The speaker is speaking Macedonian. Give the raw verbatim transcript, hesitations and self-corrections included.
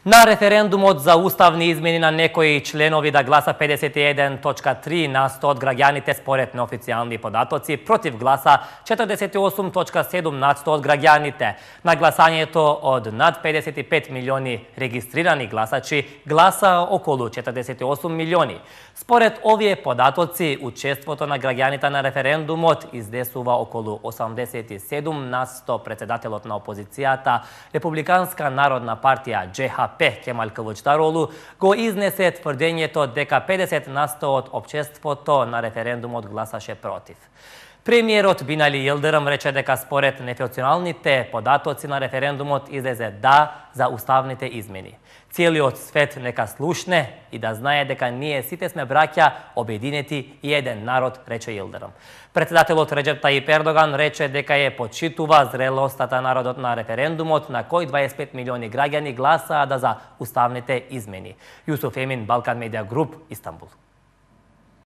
На референдумот за уставни измени на некои членови да гласа педесет и еден точка три на сто од граѓаните според неофицијални податоци, против гласа четрдесет и осум точка седум на сто од граѓаните. На гласањето од над педесет и пет милиони регистрирани гласачи гласа околу четрдесет и осум милиони. Според овие податоци, учеството на граѓаните на референдумот издесува околу осумдесет и седум на сто. Председателот на опозицијата, Републиканска народна партија Џ Х П Кемал Кылычдарогlu го изнесе тврдењето дека педесет на сто од општеството на референдумот гласаше против. Премиерот Бинали Јилдирим рече дека според неофицијалните податоци на референдумот излезе да за уставните измени. Целиот свет нека слушне и да знае дека ние сите сме браќа, обединети и еден народ, рече Јилдирим. Председателот Реџеп Тајип Ердоган рече дека ја почитува зрелостта народот на референдумот на кој дваесет и пет милиони граѓани гласаа да за уставните измени. Јусуф Емин, Балкан Медиа Груп, Истанбул.